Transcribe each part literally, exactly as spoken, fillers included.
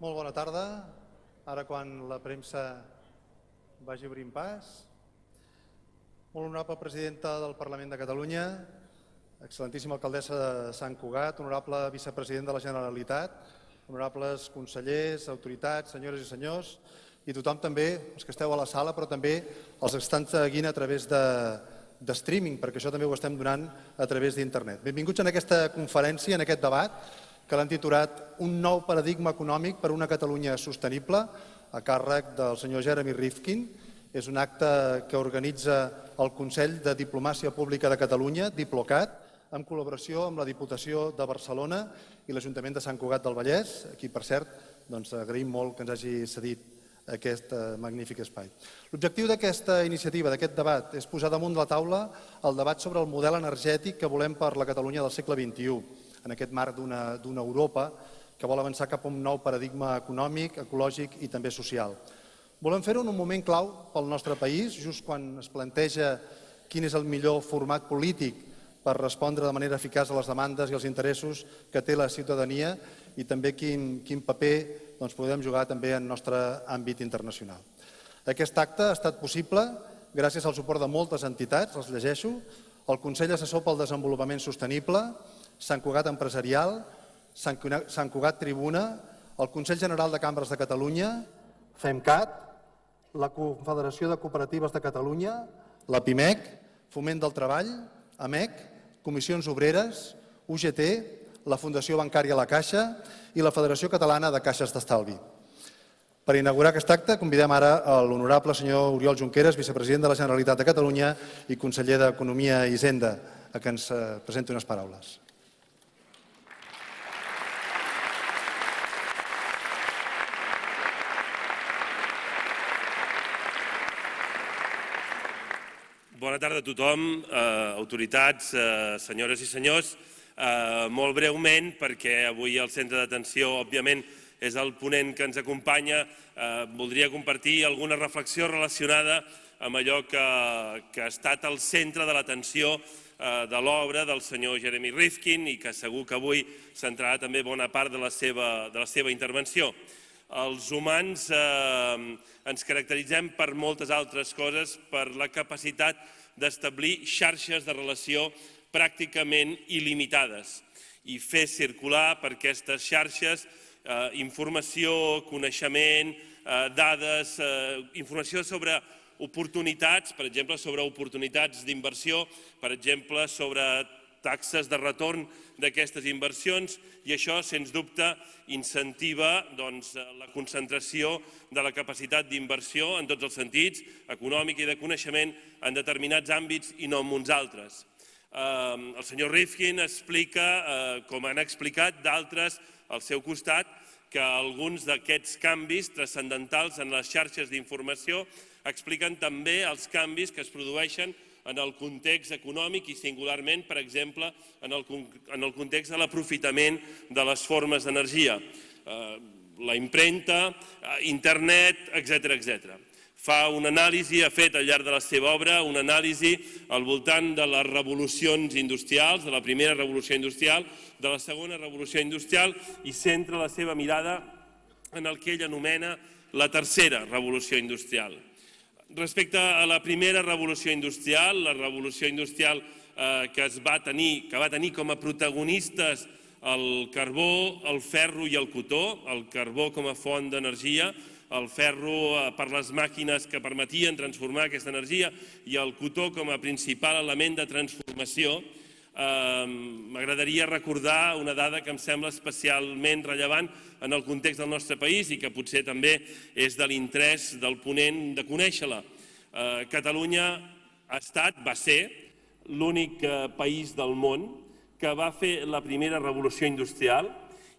Molt bona tarda. Ara quan la premsa vagi obrint pas. Molt honorable presidenta del Parlament de Catalunya, excel·lentíssima alcaldessa de Sant Cugat, honorable vicepresident de la Generalitat, honorables consellers, autoritats, senyores i senyors, i tothom també, els que esteu a la sala, però també els que estan seguint a través de, de streaming, perquè això també ho estem donant a través d'internet. Benvinguts en aquesta conferència, en aquest debat, que l'han titulat Un nou paradigma econòmic per una Catalunya sostenible, a càrrec del senyor Jeremy Rifkin. És un acte que organitza el Consell de Diplomàcia Pública de Catalunya, Diplocat, en col·laboració amb la Diputació de Barcelona i l'Ajuntament de Sant Cugat del Vallès, a qui, per cert, doncs, agraïm molt que ens hagi cedit aquest magnífic espai. L'objectiu d'aquesta iniciativa, d'aquest debat, és posar damunt de la taula el debat sobre el model energètic que volem per la Catalunya del segle vint-i-u, en aquest marc d'una Europa que vol avançar cap a un nou paradigma econòmic, ecològic i també social. Volem fer-ho en un moment clau pel nostre país, just quan es planteja quin és el millor format polític per respondre de manera eficaç a les demandes i els interessos que té la ciutadania i també quin, quin paper doncs, podem jugar també en el nostre àmbit internacional. Aquest acte ha estat possible gràcies al suport de moltes entitats, els llegeixo, el Consell Assessor pel Desenvolupament Sostenible, Sant Cugat Empresarial, Sant Cugat Tribuna, el Consell General de Cambres de Catalunya, FEMCAT, la Confederació de Cooperatives de Catalunya, la PIMEC, Foment del Treball, AMEC, Comissions Obreres, U G T, la Fundació Bancària La Caixa i la Federació Catalana de Caixes d'Estalvi. Per inaugurar aquest acte convidem ara l'honorable senyor Oriol Junqueras, vicepresident de la Generalitat de Catalunya i conseller d'Economia i Hisenda, a que ens presenti unes paraules. Bona tarda a tothom, autoritats, senyores i senyors. Molt breument, perquè avui el centre d'atenció, òbviament, és el ponent que ens acompanya, voldria compartir alguna reflexió relacionada amb allò que ha estat al centre de l'atenció de l'obra del senyor Jeremy Rifkin i que segur que avui centrarà també bona part de la seva intervenció. Els humans ens caracteritzem per moltes altres coses, per la capacitat d'establir xarxes de relació pràcticament il·limitades i fer circular per aquestes xarxes informació, coneixement, dades, informació sobre oportunitats, per exemple, sobre oportunitats d'inversió, per exemple, sobre taxes de retorn d'aquestes inversions, i això, sens dubte, incentiva la concentració de la capacitat d'inversió en tots els sentits, econòmic i de coneixement, en determinats àmbits i no en uns altres. El senyor Rifkin explica, com han explicat d'altres al seu costat, que alguns d'aquests canvis transcendentals en les xarxes d'informació expliquen també els canvis que es produeixen en el context econòmic i singularment, per exemple, en el context de l'aprofitament de les formes d'energia, la impremta, internet, etcètera. Fa una anàlisi, ha fet al llarg de la seva obra, una anàlisi al voltant de les revolucions industrials, de la primera revolució industrial, de la segona revolució industrial, i centra la seva mirada en el que ell anomena la tercera revolució industrial. Respecte a la primera revolució industrial, la revolució industrial que va tenir com a protagonistes el carbó, el ferro i el cotó, el carbó com a font d'energia, el ferro per les màquines que permetien transformar aquesta energia i el cotó com a principal element de transformació, m'agradaria recordar una dada que em sembla especialment rellevant en el context del nostre país i que potser també és de l'interès del ponent de conèixer-la. Catalunya ha estat, va ser, l'únic país del món que va fer la primera revolució industrial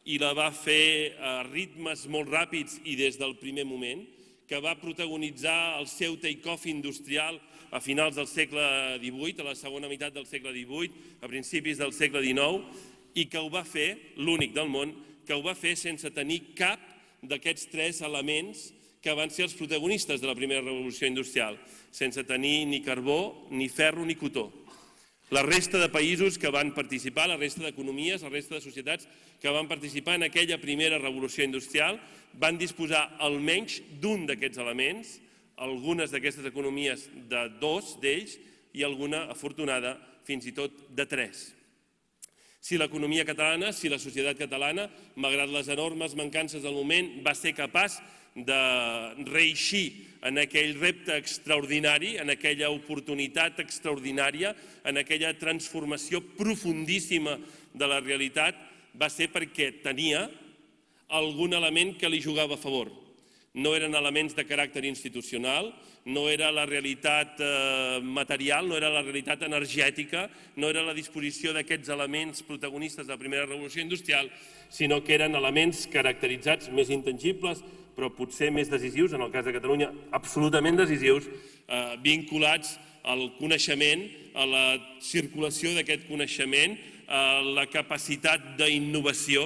i la va fer a ritmes molt ràpids i des del primer moment, que va protagonitzar el seu take-off industrial a finals del segle divuit, a la segona meitat del segle divuit, a principis del segle dinou, i que ho va fer, l'únic del món, que ho va fer sense tenir cap d'aquests tres elements que van ser els protagonistes de la primera revolució industrial, sense tenir ni carbó, ni ferro, ni cotó. La resta de països que van participar, la resta d'economies, la resta de societats que van participar en aquella primera revolució industrial van disposar almenys d'un d'aquests elements, algunes d'aquestes economies de dos d'ells i alguna, afortunada, fins i tot de tres. Si l'economia catalana, si la societat catalana, malgrat les enormes mancances del moment, va ser capaç de reeixir en aquell repte extraordinari, en aquella oportunitat extraordinària, en aquella transformació profundíssima de la realitat, va ser perquè tenia algun element que li jugava a favor. No eren elements de caràcter institucional, no era la realitat material, no era la realitat energètica, no era la disposició d'aquests elements protagonistes de la primera revolució industrial, sinó que eren elements caracteritzats, més intangibles, però potser més decisius, en el cas de Catalunya absolutament decisius, vinculats al coneixement, a la circulació d'aquest coneixement, a la capacitat d'innovació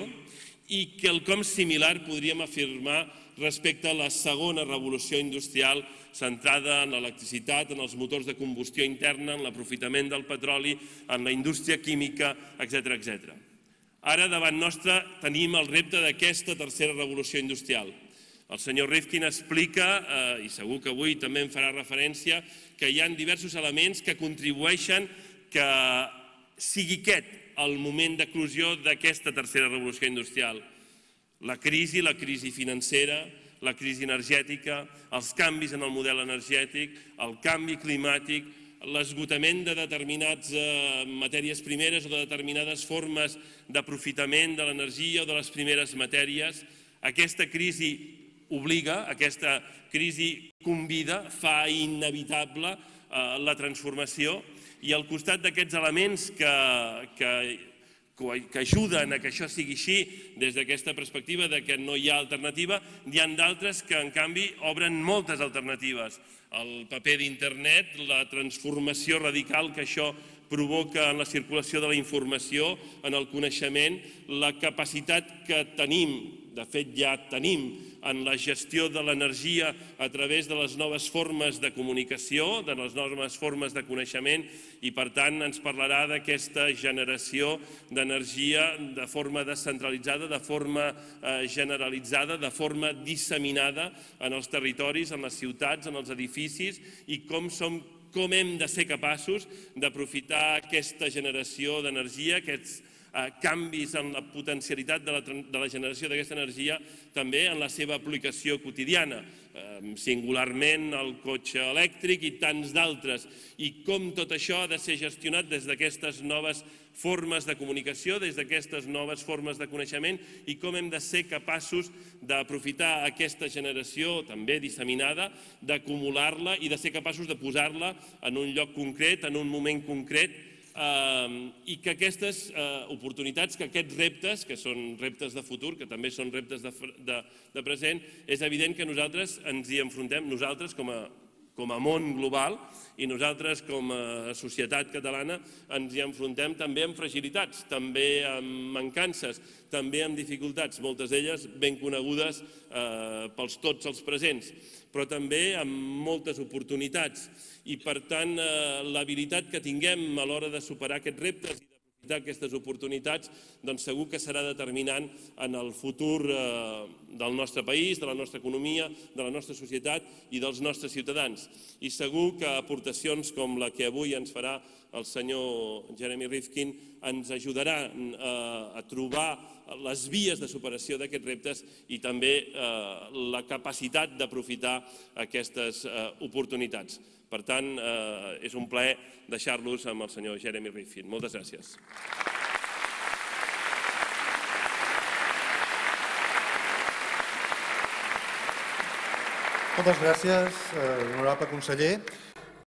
i quelcom similar podríem afirmar respecte a la segona revolució industrial centrada en l'electricitat, en els motors de combustió interna, en l'aprofitament del petroli, en la indústria química, etcètera, etcètera. Ara, davant nostre, tenim el repte d'aquesta tercera revolució industrial. El senyor Rifkin explica, i segur que avui també en farà referència, que hi ha diversos elements que contribueixen que sigui aquest el moment d'eclosió d'aquesta tercera revolució industrial. La crisi, la crisi financera, la crisi energètica, els canvis en el model energètic, el canvi climàtic, l'esgotament de determinades matèries primeres o de determinades formes d'aprofitament de l'energia o de les primeres matèries. Aquesta crisi obliga, aquesta crisi convida, fa inevitable la transformació i al costat d'aquests elements que, que, que ajuden a que això sigui així des d'aquesta perspectiva de que no hi ha alternativa, hi ha d'altres que en canvi obren moltes alternatives. El paper d'internet, la transformació radical que això provoca en la circulació de la informació, en el coneixement, la capacitat que tenim, de fet ja tenim, en la gestió de l'energia a través de les noves formes de comunicació, de les noves formes de coneixement i per tant ens parlarà d'aquesta generació d'energia de forma descentralitzada, de forma generalitzada, de forma disseminada en els territoris, en les ciutats, en els edificis i com som com hem de ser capaços d'aprofitar aquesta generació d'energia, aquests canvis en la potencialitat de la generació d'aquesta energia també en la seva aplicació quotidiana, singularment el cotxe elèctric i tants d'altres, i com tot això ha de ser gestionat des d'aquestes noves formes de comunicació, des d'aquestes noves formes de coneixement i com hem de ser capaços d'aprofitar aquesta generació també disseminada, d'acumular-la i de ser capaços de posar-la en un lloc concret, en un moment concret, i que aquestes oportunitats, que aquests reptes, que són reptes de futur, que també són reptes de present, és evident que nosaltres ens hi enfrontem, nosaltres com a com a món global i nosaltres com a societat catalana ens hi enfrontem també amb fragilitats, també amb mancances, també amb dificultats, moltes d'elles ben conegudes pels tots els presents, però també amb moltes oportunitats. I per tant, l'habilitat que tinguem a l'hora de superar aquests reptes i d'aprofitar aquestes oportunitats, doncs segur que serà determinant en el futur del nostre país, de la nostra economia, de la nostra societat i dels nostres ciutadans. I segur que aportacions com la que avui ens farà el senyor Jeremy Rifkin ens ajudarà a trobar les vies de superació d'aquests reptes i també la capacitat d'aprofitar aquestes oportunitats. Per tant, és un plaer deixar-los amb el senyor Jeremy Rifkin. Moltes gràcies. Moltes gràcies, honorable conseller.